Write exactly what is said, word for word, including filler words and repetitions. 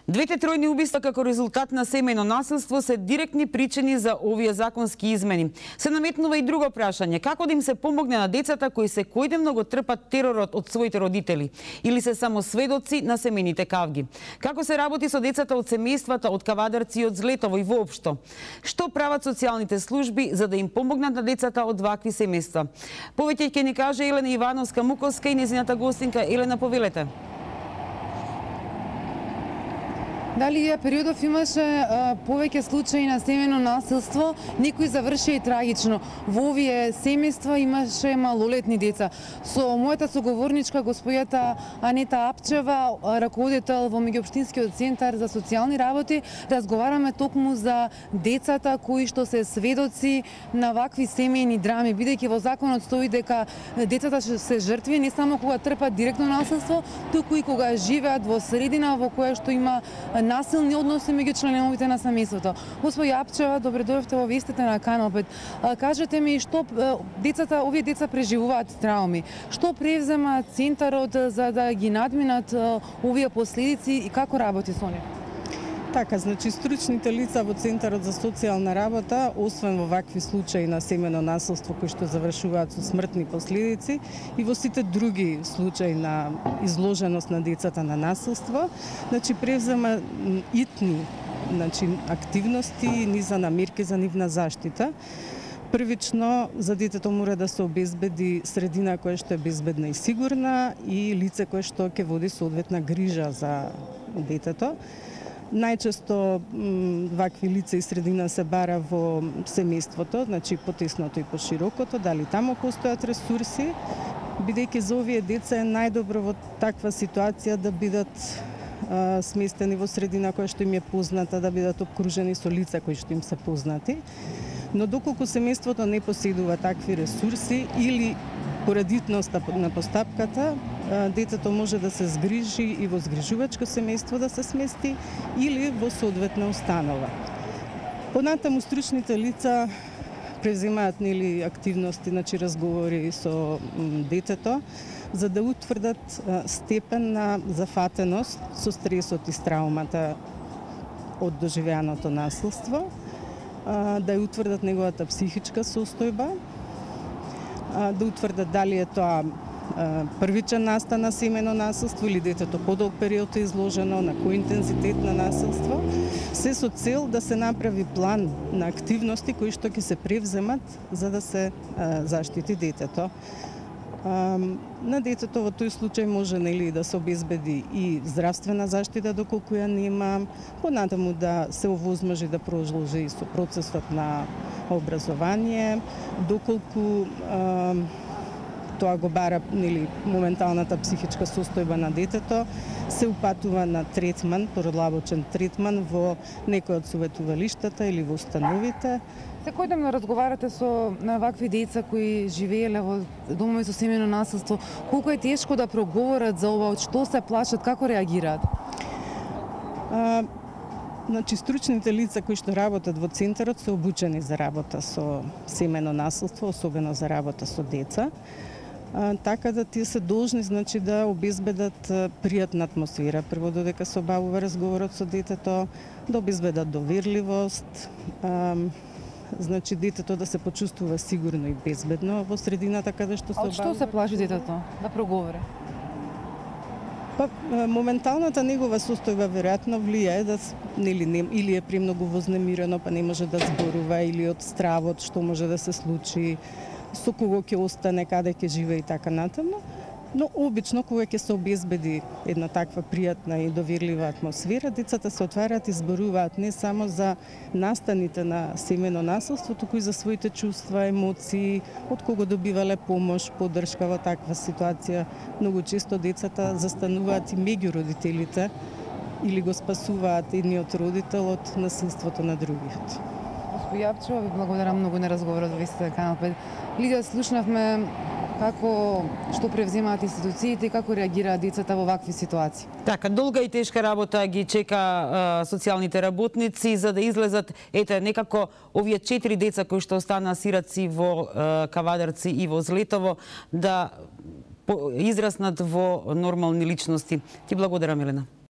Двете тројни убиства како резултат на семејно насилство се директни причини за овие законски измени. Се наметнува и друго прашање: како да им се помогне на децата кои секојдневно го трпат теророт од своите родители или се само сведоци на семејните кавги? Како се работи со децата од семејствата од Кавадарци и од Злетово и воопшто? Што прават социјалните служби за да им помогнат на децата од вакви семејства? Повеќе ќе ни каже Елена Ивановска-Муковска и незината гостинка. Елена, повелете. Дали ја периодов имаше а, повеќе случаи на семејно насилство, некои завршија и трагично. Во овие семејства имаше малолетни деца. Со мојата соговорничка, господјата Анета Апчева, раководител во меѓуопштинскиот центар за социјални работи, разговараме токму за децата кои што се сведоци на вакви семејни драми, бидејќи во законот стои дека децата се жртви не само кога трпат директно насилство, туку и кога живеат во средина во која што има насилни односи меѓу членовите на семејството. Господја Апчева, добре дојдовте во вестите на Канал пет. Кажете ми што децата, овие деца преживуваат трауми. Што превзема центарот за да ги надминат овие последици и како работи со нив? Така, значи стручните лица во Центарот за социјална работа, освен во вакви случаи на семејно насилство кои што завршуваат со смртни последици и во сите други случаи на изложеност на децата на насилство, значи превзема итни, значи активности и низа на мерки за нивна заштита. Првично, за детето мора да се обезбеди средина која што е безбедна и сигурна и лице кое што ќе води соодветна грижа за детето. Најчесто вакви лица и средина се бара во семејството, значи потесното и поширокото, дали таму постојат ресурси, бидејќи за овие деца е најдобро во таква ситуација да бидат а, сместени во средина која што им е позната, да бидат обкружени со лица кои што им се познати. Но доколку семејството не поседува такви ресурси или поради итноста на постапката, детето може да се згрижи и во згрижувачко семејство да се смести или во соодветна установа. Понатаму стручните лица преземаат нели активности, значи разговори со детето за да утврдат степен на зафатеност со стресот и с траумата од доживеаното насилство, да ја утврдат неговата психичка состојба, да утврдат дали е тоа првичен настан на семејно насилство или детето подолг период е изложено, на кој интензитет на насилство, се со цел да се направи план на активности кои што ќе се превземат за да се а, заштити детето. А, на детето во тој случај може нели да се обезбеди и здравствена заштита доколку ја нема, понатаму да се овозможи да продолжи со процесот на образование, доколку а, тоа го бара нели моменталната психичка состојба на детето, се упатува на третман, продлабочен третман во некој од советувалиштата или во установите. Секојдневно разговарате со на вакви деца кои живееле во домови со семејно насилство. Колку е тешко да проговорат за ова, од што се плашат, како реагираат? А, Значи, стручните лица кои што работат во центарот се обучени за работа со семејно насилство, особено за работа со деца. А, така да тие се должни, значи, да обезбедат пријатна атмосфера. Прво додека се обавува разговорот со детето, да обезбедат доверливост, а, значи детето да се почувствува сигурно и безбедно во средината каде што се обавува. А од што се плаши детето да проговори? Па, моменталната негова состојба веројатно влијае да нели не, или е премногу вознемирено, па не може да зборува, или од стравот што може да се случи, со кого ќе остане, каде ќе живее и така натаму. Но обично кога ќе се обезбеди една таква пријатна и доверлива атмосфера, децата се отварат и зборуваат не само за настаните на семејно насилство, туку и за своите чувства, емоции, од кого добивале помош, поддршка во таква ситуација. Многу често децата застануваат и меѓу родителите или го спасуваат едниот родител од насилството на другиот. Господја Апчева, ви благодарам многу на разговорот во вестите Канал пет. Лидија, слушнавме како што превземаат институциите и како реагираат децата во вакви ситуации. Така, долга и тешка работа ги чека а, социјалните работници за да излезат, ете, некако овие четири деца кои што останаа сираци во а, Кавадарци и во Злетово да израснат во нормални личности. Ти благодарам, Елена.